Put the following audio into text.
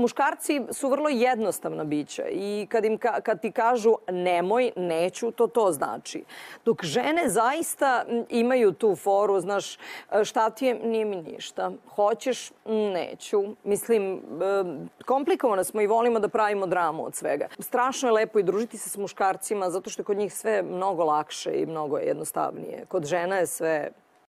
muškarci su vrlo jednostavna bića i kad ti kažu nemoj, neću, to znači. Dok žene zaista imaju tu foru, znaš, šta ti je, nije mi ništa. Hoćeš, neću. Mislim, komplikovane smo i volimo da pravimo dramu od svega. Strašno je lepo i družiti se s muškarcima zato što je kod njih sve mnogo lakše i mnogo jednostavnije. Kod žena je sve